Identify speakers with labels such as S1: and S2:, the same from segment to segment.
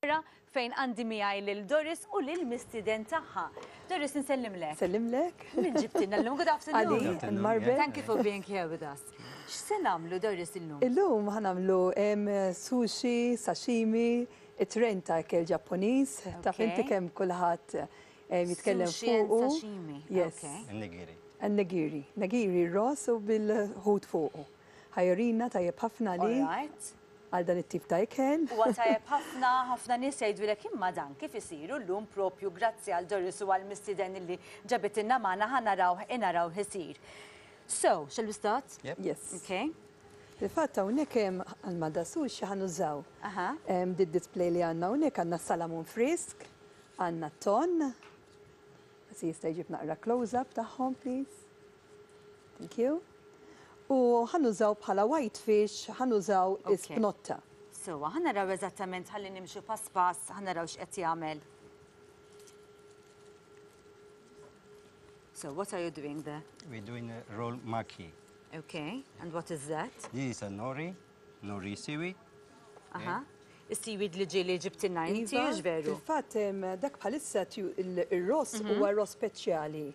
S1: Oħra fejn għandi miegħi lil Doris u lil mistieden tagħha. Doris nsellimlek.
S2: Sellimlek.
S1: Min ġibtilna llum? Good afternoon.
S2: Ali and Marbe.
S1: Thank you for being here with us. X'se nagħmlu Doris illum?
S2: Illum ħa nagħmlu sushi, sashimi, it-trend ta' ikel Ġappuniż. Taf inti kemm kulħadd jitkellem
S1: fuqu. Sushi and sashimi.
S2: Yes.
S3: Nigiri.
S2: Nigiri. Nigiri ross u bil-ħut fuqu. Ħa jurina tajjeb ħafna li.
S1: All right.
S2: Għal dan it-tip ta' ikel.
S1: Huwa tajjeb ħafna, ħafna nies jgħidulek imma dan kif isir u llum propju grazzi għal Doris u għall-mistieden illi ġabitilna magħna ħa narawh inarawh isir. So, shall we start?
S3: Yep.
S2: Yes.
S1: Okay.
S2: Fil-fatt hawnhekk hemm għal ma da sushi ħa nużaw.
S1: Aha.
S2: Did-display li għandna hawnhekk għandna salamun frisk, għandna ton. Si jista' jġib naqra close-up tagħhom, please. Thank you. U ħa nużaw bħala white fish, ħa nużaw ispnotta.
S1: Sewa, ħa naraw eżattament ħalli nimxu pass pass, ħa naraw x'qed jagħmel. So, what are you doing there?
S3: We're doing a roll maki.
S1: Okay, and what is that?
S3: This is a nori, nori seaweed.
S1: Aha. Is-seaweed li ġieli ġibtilna inti,
S2: Iva,
S1: hux veru?
S2: Fil-fatt dak bħalissa ir-ross huwa ross speċjali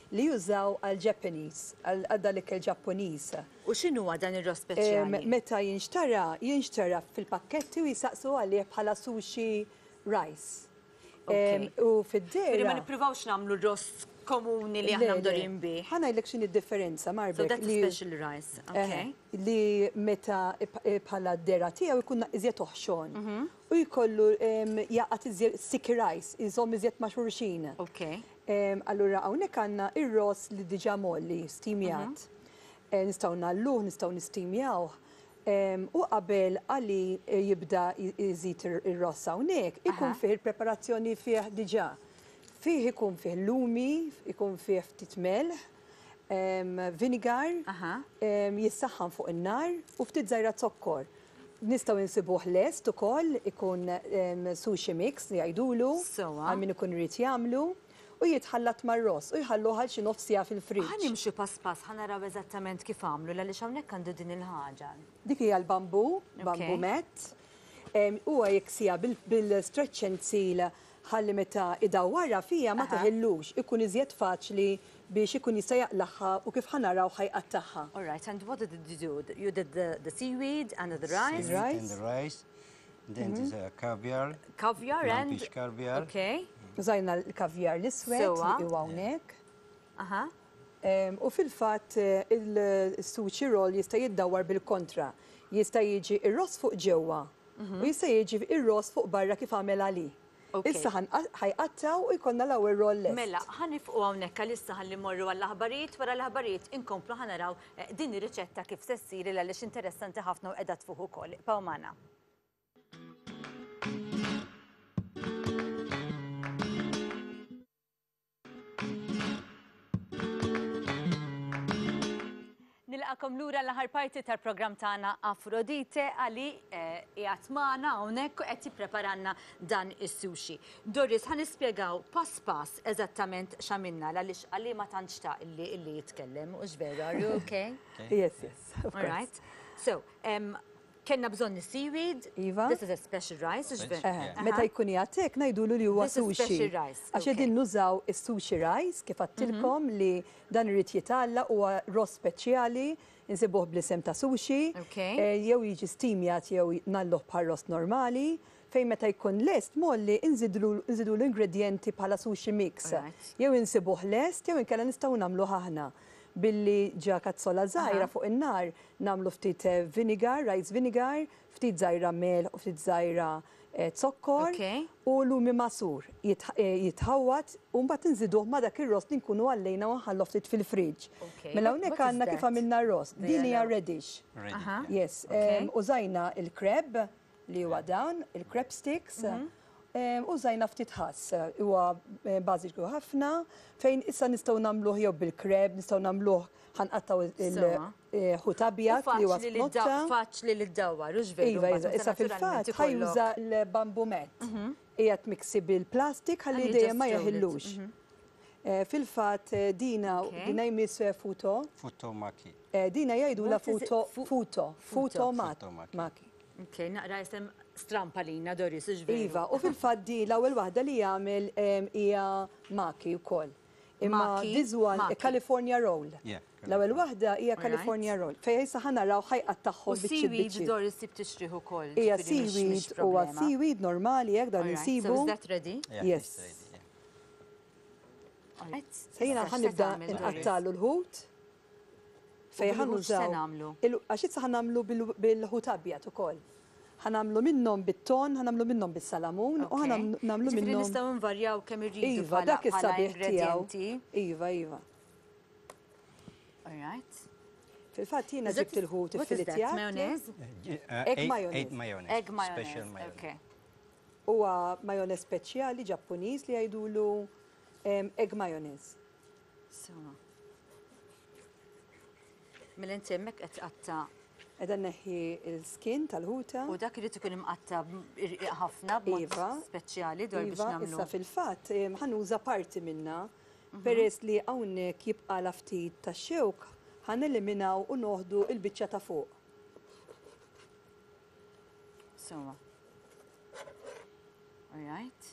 S2: li jużaw għal Japanese, għal dan l-ikel Ġappuniż.
S1: U x'inhuwa dan ir-ross speċjali?
S2: Meta jinxtara, jinxtara fil-pakketti u jisaqsu għalih bħala sushi rice. U fid-dehra.
S1: Ġifieri ma nippruvawx nagħmlu ross komuni li aħna mdorrijin bih.
S2: Ħa ngħidlek x'inhi d-differenza, Marbek.
S1: So that's a special rice, okay.
S2: Li meta bħala d-dehra tiegħu jkun iżjed oħxon. U jkollu jaqgħad iżjed sticky rice, iżomm iżjed ma' xulxin.
S1: Okay.
S2: Allura hawnhekk għandna ir-ross li diġà mgħolli, steamjat. Nistgħu ngħalluh, nistgħu nistimjawh. U qabel Ali jibda jżid ir-ross hawnhekk, ikun fih il-preparazzjoni fih diġà. Fih ikun fih lumi, ikun fih ftit melħ, vinegar, jissaħħan fuq in-nar u ftit żgħira zokkor. Nistgħu insibuh lest ukoll, ikun sushi mix li jgħidulu, għal min ikun irid jagħmlu, u jitħallat mar-ross u jħalluh għal xi nofs siegħa fil-fridge.
S1: Ħa nimxu pass pass, ħa naraw eżattament kif għamlu l-għaliex hawnhekk għandu din il-ħaġa.
S2: Dik hija l-bamboo, bamboo mat. Huwa jiksiha bil-stretch and seal ħalli meta idawwarha fiha ma teħillux, ikun iżjed faċli biex ikun jista' jaqlagħha u kif ħa naraw ħa jqattagħha.
S1: All right, and what did you do? You did the seaweed and the rice?
S3: Seaweed and the rice. Then this uh, caviar.
S1: Caviar and
S3: Fish caviar.
S1: Okay.
S2: Użajna l-kaviar l-iswed li huwa hawnhekk.
S1: Aha.
S2: U fil-fatt il-sushi roll jista' jiddawwar bil-kontra. Jista' jiġi ir-ross fuq ġewwa u jista' jiġi ir-ross fuq barra kif għamel Ali. Issa ħa jqattgħu u jkollna l-ewwel roll lest.
S1: Mela, ħa nifqu hawnhekk għalissa ħalli mmorru għall-aħbarijiet, wara l-aħbarijiet inkomplu ħa naraw din ir-riċetta kif se ssir il għaliex interessanti ħafna u qiegħda tfuħ ukoll. Ibqgħu magħna. Nilqakom lura l-aħħar parti tal-programm tagħna Afrodite għali eh, qiegħed magħna hawnhekk u qed jippreparanna dan is-sushi. Doris, ħa nispjegaw pass pass eżattament x'għamilna għaliex għali ma tantx ta' illi illi jitkellem, u veru, are you okay?
S2: Yes, yes. Of
S1: All right. So, um, Kellna bżonn is-seaweed.
S2: Iva.
S1: This is a special rice, hux veru?
S2: Eħe, meta jkun qiegħed hekk ngħidulu li huwa
S1: This is
S2: sushi.
S1: special rice,
S2: Għax qegħdin nużaw is-sushi rice kif għedtilkom li dan irid jitgħallaq huwa ross speċjali, insibuh bl-isem ta' sushi.
S1: Okay.
S2: Jew jiġi steamjat jew ngħalluh bħal ross normali, fejn meta jkun lest mgħolli nżidlu nżidulu ingredjenti bħala sushi mix.
S1: Alright.
S2: Jew insibuh lest jew inkella nistgħu nagħmluh aħna billi ġa kazzola żgħira fuq in-nar Nagħmlu ftit vinegar, rice vinegar, ftit żgħira melħ u ftit żgħira zokkor u lumi magħsur. Jitħawwad u mbagħad inżiduh ma' dak ir-ross li nkunu għallejna u nħalluh ftit fil-fridge. Mela hawnhekk għandna kif għamilna r-ross. Din hija radish. Yes. Użajna l-crab li huwa dan, il-crab sticks. Użajna ftit ħass, huwa bażiku ħafna, fejn issa nistgħu nagħmluh jew bil-crab, nistgħu nagħmluh ħa nqattgħu il-ħut abjad li huwa spnotta.
S1: Faċli li ddawwar, hux veru?
S2: Iva, iva, issa fil-fatt ħa juża l-bamboo mat. Qiegħed miksi bil-plastik ħalli dejjem ma jeħillux. Fil-fatt dina dina jmiss futo.
S3: Futo maki.
S2: Dina jgħidulha futo futo futo maki.
S1: Ok, naqra isem. strampa lina Doris, hux veru?
S2: Iva, u fil-fatt di l-ewwel waħda li jagħmel hija maki wkoll. Imma
S1: Maki,
S2: this one,
S1: maki.
S2: California roll.
S3: Yeah,
S2: L-ewwel waħda hija California roll. Fejn issa ħa naraw ħa jqattagħhom
S1: U
S2: biċċiet
S1: seaweed
S2: biċċiet.
S1: Doris tib tixtrih ukoll.
S2: Hija
S1: ġifieri mhix- mhix
S2: seaweed huwa
S1: problema.
S2: seaweed normali hekk dan
S1: Alright,
S2: insibu.
S1: So is that ready?
S3: Yeah,
S2: Yes.
S3: it's ready, yeah.
S1: Alright.
S2: Se jiena
S1: Issa
S2: ħa
S1: x'se
S2: nibda
S1: tagħmel, Doris?
S2: nqattalu l-ħut. Fejn
S1: bil-ħut x'se
S2: ħa nużaw.
S1: nagħmlu?
S2: Għax issa ħa nagħmlu bil-ħut abjad ukoll. Ħa nagħmlu minnhom bit-ton, ħa nagħmlu minnhom bis-salamun u ħa
S1: Okay.
S2: nagħmlu
S1: Ġifieri
S2: minnhom.
S1: nistgħu nvarjaw kemm irridu
S2: Iva,
S1: bħala
S2: dak
S1: bħala
S2: is-sabiħ tiegħu.
S1: ingredienti.
S2: Iva, iva.
S1: All right.
S2: Fil-fatt jiena
S1: Is that-
S2: ġibt il-ħut
S1: What is that?
S2: iffiletjat.
S1: Mayonnaise?
S2: Egg mayonnaise.
S3: Egg mayonnaise.
S1: Egg mayonnaise.
S3: Special mayonnaise.
S1: Okay.
S2: Huwa mayonnaise speċjali Ġappuniż li jgħidulu egg mayonnaise.
S1: So. Mela inti hemmhekk qed tqatta'
S2: Qegħda neħħi l-skin tal-ħuta.
S1: u dak irid ikun imqatta' irqiq ħafna b'mod
S2: Iva.
S1: speċjali dwar biex
S2: Iva,
S1: nagħmlu.
S2: issa fil-fatt ħa nuża parti minna peress li hawnhekk jibqa' la ftit ta' xewk ħa neliminaw u noħdu il-biċċa ta' fuq.
S1: So. All right.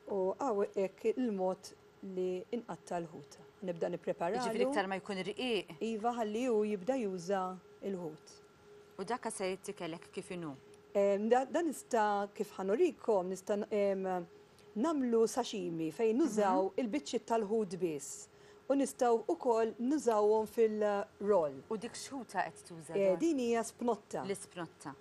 S2: U hawn hekk il-mod li inqatta l-ħuta. Nibda nippreparalu.
S1: Ġifieri iktar ma jkun irqiq
S2: Iva ħalli hu jibda juża il-ħut.
S1: u dak se jittikelek kif inhu.
S2: Dan nista' kif ħa nurikom, nista' nagħmlu sashimi fejn nużaw il-biċċiet tal-ħut biss. U nistgħu ukoll nużawhom fil-roll.
S1: U dik x'ħuta qed tuża?
S2: Eh,
S1: Dor?
S2: Din hija spnotta.
S1: L-ispnotta.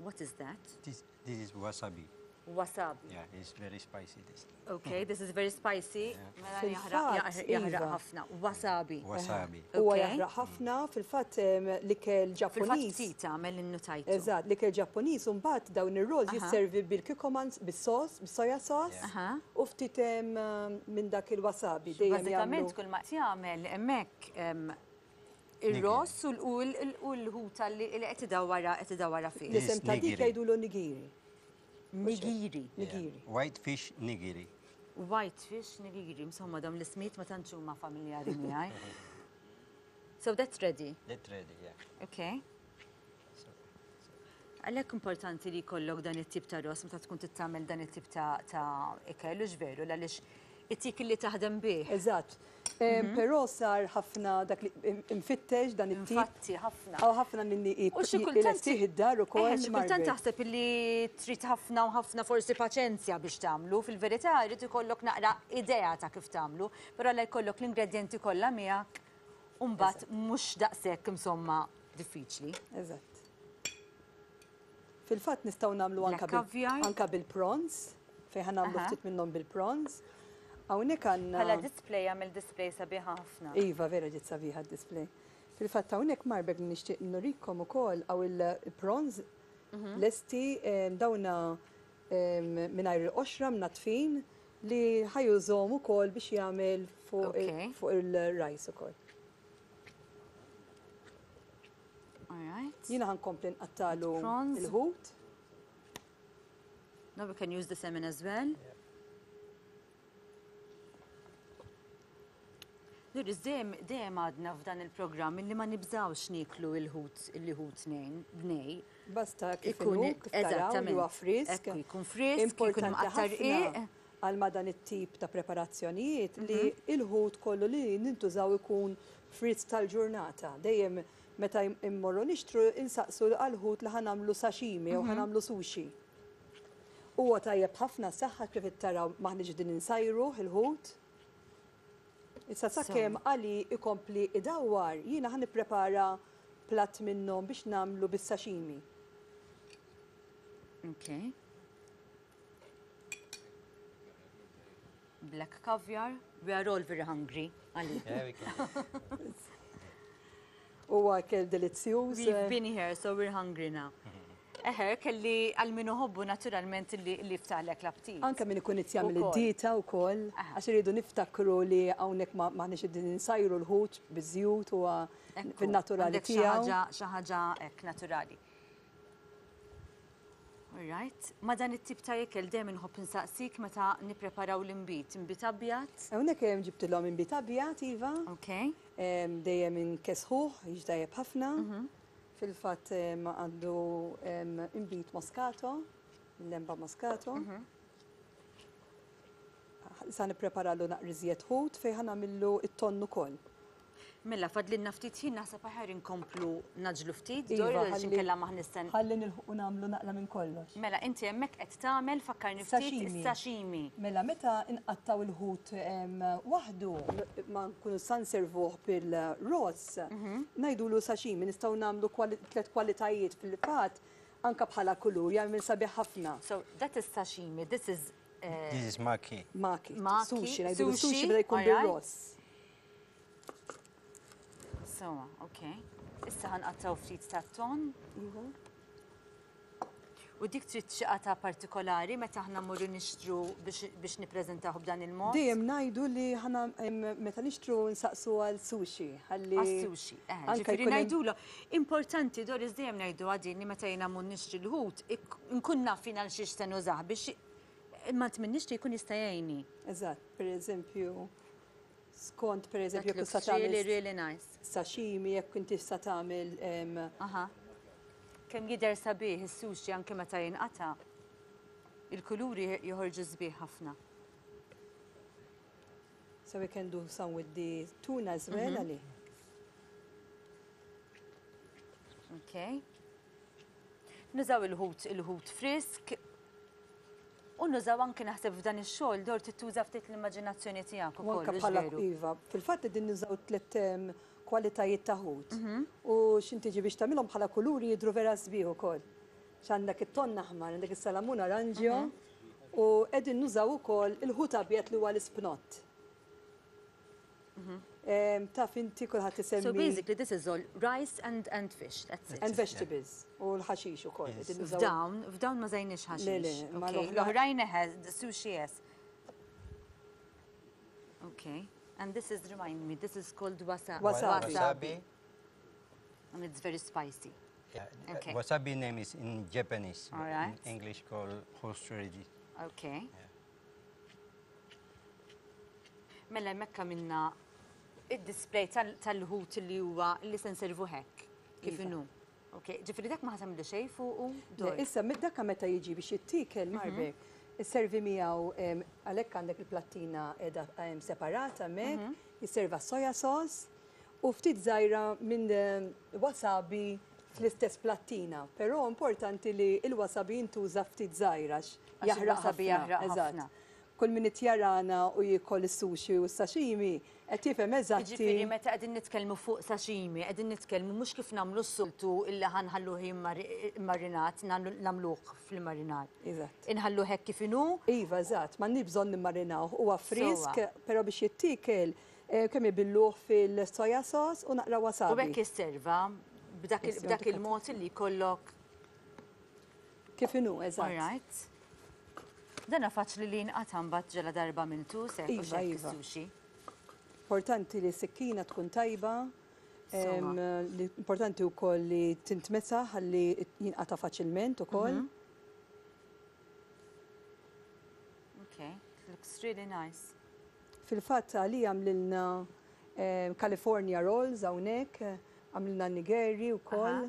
S1: What is that?
S3: This is wasabi.
S1: Wasabi.
S3: Yeah, it's very spicy this.
S1: Okay, this is very spicy. Mela
S2: Fil-fatt,
S1: jaħraq jaħraq
S2: iva.
S1: ħafna. Wasabi.
S3: Wasabi.
S2: Huwa
S1: Okay.
S2: jaħraq ħafna, fil-fatt l-ikel
S1: Fil-fatt
S2: Ġappuniż.
S1: ftit għamel innutajtu.
S2: Eżatt, l-ikel Ġappuniż u mbagħad dawn ir-rolls jisservi bil-kikkoman, bis-sos, bis-soja sauce
S1: Aha.
S2: u ftit minn dak il-wasabi dejjem
S1: Bażikament
S2: jagħmlu.
S1: kull ma qed jagħmel hemmhekk ir-ross u l-ħuta li qed idawwara qed idawwara fih.
S2: L-isem ta' dik
S3: Nigiri.
S2: jgħidulu nigiri.
S1: Nigiri.
S3: Yeah.
S2: Nigiri.
S3: White fish nigiri.
S1: White fish nigiri, insomma dawn l-ismijiet ma tantx huma familjari miegħi. So that's ready.
S3: That's ready, yeah.
S1: Okay. Għalhekk importanti li jkollok dan it-tip ta' ross meta tkun tittamel dan it-tip ta' ikel u veru għaliex it-tik li taħdem bih.
S2: Eżatt. Però sar ħafna dak li imfittex dan it-tip.
S1: Infatti ħafna.
S2: Hawn ħafna minni
S1: U xi kultant
S2: ilestih id-dar ukoll.
S1: Eħe, xi kultant
S2: Margaret.
S1: taħseb li trid ħafna u ħafna forsi paċenzja biex tagħmlu, fil-verità jrid ikollok naqra idea ta' kif tagħmlu, però la jkollok l-ingredjenti kollha miegħek u mbagħad mhux daqshekk insomma diffiċli.
S2: Eżatt. Fil-fatt nistgħu nagħmlu
S1: Black caviar.
S2: anka bil-prawns, fejn ħa nagħmlu ftit minnhom bil-prawns. Hawnhekk għandna
S1: Bħala display għamel display sabiħa ħafna.
S2: Iva, vera ġiet sabiħa d-display. Fil-fatt hawnhekk Margaret nixtieq nurikom ukoll hawn il-prawns lesti dawna mingħajr il-qoxra mnatfin li ħa jużahom ukoll biex jagħmel fuq il-rice ukoll.
S1: All right.
S2: Jiena ħa nkompli nqattalu
S1: Prawns.
S2: il-ħut.
S1: Now we can use the salmon as well. Doris, dejjem dejjem għadna f'dan il-programm illi ma nibżawx nieklu il-ħut il-ħut nej.
S2: Basta kif
S1: Ikun
S2: inhu, kif taraw li huwa
S1: eżattament.
S2: frisk.
S1: Ekku, jkun frisk, jkun
S2: Importanti
S1: mqattar
S2: ħafna
S1: rqiq.
S2: għal ma dan it-tip ta' preparazzjonijiet li il-ħut kollu li nintużaw ikun frisk tal-ġurnata. Dejjem meta immorru nixtru insaqsu għal-ħut li ħa nagħmlu sashimi u ħa nagħmlu sushi. Huwa tajjeb ħafna saħħa kif taraw m'aħniex din insajru il-ħut. Issa sakemm għali ikompli idawwar, jiena ħa nipprepara platt minnhom biex nagħmlu bis-sashimi.
S1: Okay. Black caviar. We are all very hungry. Ali.
S3: Yeah, we can.
S2: Huwa ikel delizzjuż.
S1: We've been here, so we're hungry now. Eħe, kelli għal min iħobbu naturalment li ftaħlek l-aptit.
S2: Anka min ikun qed jagħmel
S1: Ukoll.
S2: id-dieta wkoll, għax iridu niftakru li hawnhekk m'aħniex qegħdin insajru l-ħut biż-żjut huwa
S1: Ekku,
S2: fin-naturali
S1: għandek xi
S2: tiegħu.
S1: ħaġa- Xi ħaġa hekk naturali. All right. Ma dan it-tip ta' ikel dejjem inħobb insaqsik meta nippreparaw l-inbid. Inbid abjad.
S2: Hawnhekk hemm ġibtilhom inbid abjad iva.
S1: Okay.
S2: Dejjem inkessħuh, jiġi tajjeb ħafna. Fil-fatt għandu inbid Moscato, lemba Moscato. Sa nippreparalu naqra iżjed ħut fejn ħa nagħmillu it-tonn ukoll.
S1: Mela, fadlilna ftit ħin, naħseb aħjar inkomplu ngħaġġlu ftit,
S2: Iva,
S1: Dor, għax
S2: ħalli
S1: inkella ma ħnisten.
S2: Ħalli nilħqu nagħmlu naqra minn kollox.
S1: Mela, inti hemmhekk qed tagħmel, fakkarni ftit,
S2: Sashimi.
S1: Is-sashimi.
S2: Mela, meta nqattaw il-ħut waħdu, ma nkunu sa nservuh bil-ross, ngħidulu sashimi, nistgħu nagħmlu tliet kwalitajiet fil-fatt, anka bħala kulur, jagħmel sabiħ ħafna.
S1: So, that is sashimi, this is
S3: This is maki.
S2: Maki,
S1: Maki,
S2: sushi, ngħidulu
S1: sushi,
S2: sushi meta jkun bir-ross.
S1: So, okay. Issa ħa nqattaw ftit ta' ton.
S2: Iva.
S1: U dik trid xi qata partikolari meta aħna mmorru nixtru biex nippreżentaw b'dan il-mod?
S2: Dejjem ngħidu li ħana meta nixtru nsaqsu għal sushi, ħalli
S1: Għas-sushi,
S2: anke
S1: ġifieri
S2: jkun hemm
S1: ngħidulu. Importanti, Doris, dejjem ngħidu għadin li meta jiena mmur nixtri l-ħut, nkun naf jien għal xiex se nużah biex ma tminnix li jkun jista' jgħinni.
S2: Eżatt, per eżempju, skont per eżempju
S1: That
S2: jekk
S1: looks
S2: tista' tagħmel
S1: really, really nice.
S2: sashimi, jekk inti tista' tagħmel
S1: Aha. Kemm jidher sabiħ is-sushi anke meta jinqata'. Il-kuluri joħorġu sbieħ ħafna.
S2: So we can do some with the tuna as well, Ali.
S1: Okay. Nużaw il-ħut frisk. U nużaw anke naħseb f'dan ix-xogħol dor tittuża ftit l-immaġinazzjoni tiegħek
S2: U
S1: ukoll.
S2: anke
S1: Mhux
S2: bħala
S1: veru?
S2: Iva, fil-fatt din nużaw tliet kwalitajiet ta' ħut. U x'intiġi biex tagħmilhom bħala kuluri jidru vera sbieħ ukoll. X'għandek it-tonn aħmar, għandek is-salamun aranġjo u qegħdin nużaw ukoll il-ħut abjad li huwa l-ispnott. Taf inti kulħadd isemmi.
S1: So basically this is all rice and fish, that's it.
S2: And vegetables u l-ħaxix ukoll.
S3: Yes.
S2: Qegħdin nużaw
S1: F'dawn ma użajniex ħaxix.
S2: Le, le, ma
S1: Okay.
S2: l-oħra-
S1: L-oħrajn eħe, the sushi, yes. Okay. And this is, remind me, this is called
S2: Wasabi.
S3: Wasabi.
S1: And it's very spicy.
S3: Yeah.
S1: Okay.
S3: Wasabi name is in Japanese.
S1: All
S3: but
S1: right.
S3: In English called horseradish.
S1: Okay.
S3: Yeah.
S1: Mela hemmhekk minna id-display tal-ħut li huwa li se nservu hekk. Kif
S2: Iva.
S1: inhu. Ok, ġifieri dak ma ħa tagħmlu xejn fuqu.
S2: Le,
S1: Dor.
S2: issa, dakka meta jiġi biex jittiekel marbe, isservi miegħu għalhekk għandek il-plattina qiegħda separata hemmhekk, jisserva soja sauce u ftit żgħira minn wasabi fl-istess plattina. Però importanti li il-wasabi jintuża ftit żgħira għax
S1: Għax
S2: jaħraq
S1: il-wasabi
S2: ħafna.
S1: jaħraq
S2: Eżatt.
S1: ħafna.
S2: Kull min jarana u jiekol is-sushi u s-sashimi qed jifhem eżatti.
S1: Ġifieri meta qegħdin nitkellmu fuq sashimi, qegħdin nitkellmu mhux kif nagħmlu s-soltu illi ħa nħalluh immarinat, nagħmluh fil-marinat.
S2: Eżatt.
S1: Inħalluh hekk kif inhu.
S2: Iva, eżatt, ma bżonn nimmarinaw. Huwa frisk,
S1: Sewwa.
S2: però biex jittiekel kemm ibilluh fil-soja sauce u naqra wasabi.
S1: U hekk jisserva
S2: Yes,
S1: b'dak
S2: jonti
S1: il-mod li jkollok.
S2: Kif inhu, eżatt.
S1: All right. Dana faċli li jinqata' mbagħad ġela darba minn tu se
S2: Iva,
S1: hekk
S2: iva.
S1: is-sushi.
S2: Importanti li s-sikkina tkun tajba.
S1: Sewwa.
S2: Li importanti wkoll li tintmesa ħalli jinqata' faċilment ukoll.
S1: Okay, it looks really nice.
S2: Fil-fatt għali għamlilna California rolls hawnhekk, għamlilna nigiri wkoll.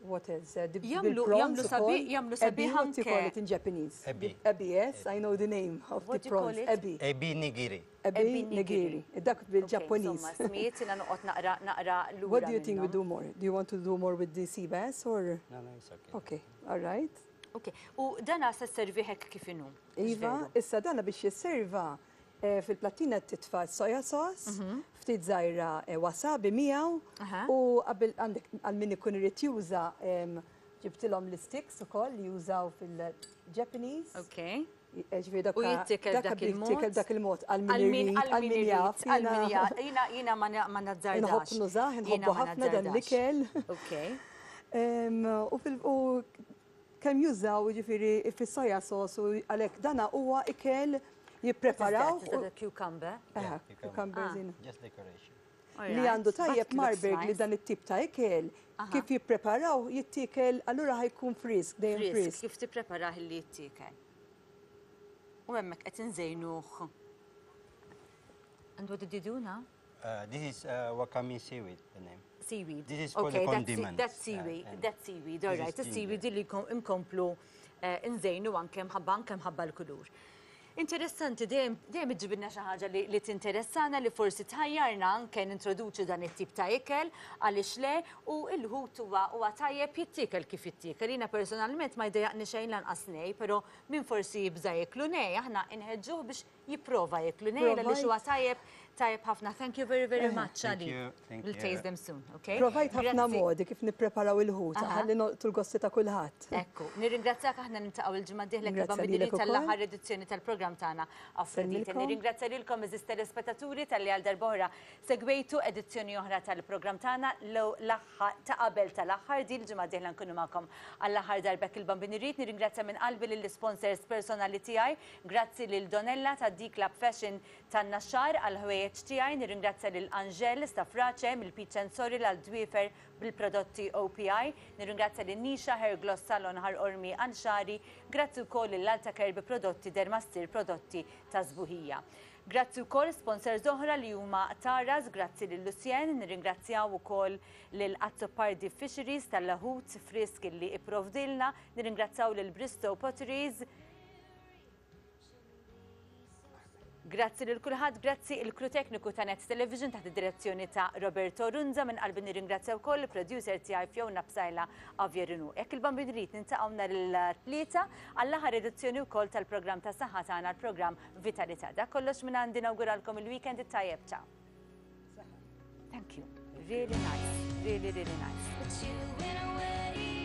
S2: What else? The
S1: Jagħmlu
S2: bil-prawns
S1: sabi-
S2: ukoll.
S1: jagħmlu
S2: Ebi,
S1: sabiħ
S2: what do you call
S1: anke.
S2: it in Japanese?
S3: Ebi.
S2: Ebi, yes, I know the name of
S1: What
S2: the
S1: do you call
S2: prawns.
S1: it?
S2: Ebi.
S3: Ebi nigiri.
S2: Ebi
S1: Ebi nigiri.
S2: nigiri. Dak bil-Japanese.
S1: Insomma, smijiet jiena noqgħod naqra lura
S2: What do you think we
S1: minnhom.
S2: do more? Do you want to do more with the sea bass or?
S3: No, it's okay.
S2: Okay, all right.
S1: Ok, u dana se servi hekk kif inhu?
S2: Iva, issa dana biex jisserva fil-plattina titfa soja sauce, ftit żgħira wasabi miegħu u qabel għandek għal min ikun irid juża ġibtilhom l-sticks ukoll li jużaw fil-Japanese.
S1: Ok.
S2: Ġifieri
S1: U jittiekel
S2: dakka
S1: dak il-mod?
S2: jittiekel dak il-mod għal min
S1: Għal min
S2: irid, għal min jaf.
S1: għal min jaf. Jiena ma nazzardax.
S2: Inħobb nużah,
S1: Jiena
S2: inħobbu
S1: ma
S2: ħafna dan
S1: nazzardax.
S2: l-ikel.
S1: Ok.
S2: U kemm jużaw ġifieri fis-soja sauce u għalhekk dana huwa ikel jippreparaw.
S1: Is that a cucumber?
S2: Aha,
S3: Yeah, cucumber.
S2: cucumbers
S3: Just decoration.
S2: Li għandu tajjeb Marburg li dan it-tip ta' ikel, kif jippreparaw jittiekel, allura ħa jkun frisk, dejjem
S1: Frisk,
S2: frisk.
S1: kif tippreparah li jittiekel. U hemmhekk qed inżejnuh. And what did you do now?
S3: This is wakame seaweed, the name.
S1: Seaweed.
S3: This is for
S1: okay,
S3: the
S1: that's,
S3: condiments.
S1: that's seaweed,
S3: Yeah, and
S1: that's seaweed, all
S3: this
S1: right.
S3: is
S1: Is-seaweed
S3: ginger.
S1: li nkomplu eh, nżejnu anke mħabba anke mħabba l-kulur. Interessanti, dejjem dejjem iġġibilna xi ħaġa li, li tinteressana li forsi tħajjarna anke nintroduċu dan it-tip ta' ikel għaliex le u l-ħut huwa huwa tajjeb jittiekel kif jittiekel. Jiena personalment ma jdejjaqni xejn lanqas nej, però min forsi jibża jiklu nej, aħna inħeġġuh biex jipprova jiklu nej għaliex huwa tajjeb tajjeb ħafna. Thank you very very much,
S3: Thank
S1: Ali.
S3: you, thank
S1: We'll
S3: you.
S1: taste them soon, okay?
S2: Provajt ħafna
S1: Grazzi.
S2: modi kif nippreparaw il-ħut,
S1: Aha.
S2: ħalli nolqtu l-gosti ta' kulħadd.
S1: Ekku, nirringrazzjak aħna niltaqgħu il-ġimgħa d-dieħla kif
S2: Ringrazzja
S1: bambini
S2: lilek ukoll.
S1: tal-aħħar edizzjoni tal-programm tagħna Afrodite.
S2: Sellilkom.
S1: Nirringrazzja lilkom għeżież telespettaturi talli għal darb'oħra segwejtu edizzjoni oħra tal-programm tagħna l-aħħar ta' qabel tal-aħħar din il-ġimgħa d-dieħla nkunu magħkom għall-aħħar darba il-Bambin irid. Nirringrazzja minn qalbi lill-sponsors personali tiegħi. Grazzi lil Donella ta' D Club Fashion tan-Naxxar għal ħwejjeġ tiegħi. Nirringrazzja lil Angel Stafrace mill-Peach and Sorry għal dwiefer bil-prodotti OPI. Nirringrazzja lil Nisha Hair Gloss Salon Ħal Qormi Anxari. Grazzi wkoll lil Alta Kerbi prodotti Dermastir prodotti ta' sbuħija. Grazzi wkoll sponsors oħra li huma Taras, grazzi lil Lucien, nirringrazzjaw ukoll lil Azzopardi Fisheries tal-ħut frisk li ipprovdilna, nirringrazzjaw lil Bristow Potteries, Grazzi lil kulħadd, grazzi il-crew tekniku ta' Net Television taħt id-direzzjoni ta' Roberto Runza minn qalbi nirringrazzja wkoll il-producer tiegħi Fiona Psaila Avjerinu. Jekk il-Bambin irid niltaqgħu nhar il-Tlieta għall-aħħar edizzjoni wkoll tal-programm ta' saħħa tagħna l-programm Vitalità. Dak kollox minn għandi nawguralkom il-weekend it-tajjeb ciao. Thank you. Really nice. Really, really nice.
S4: But you went away.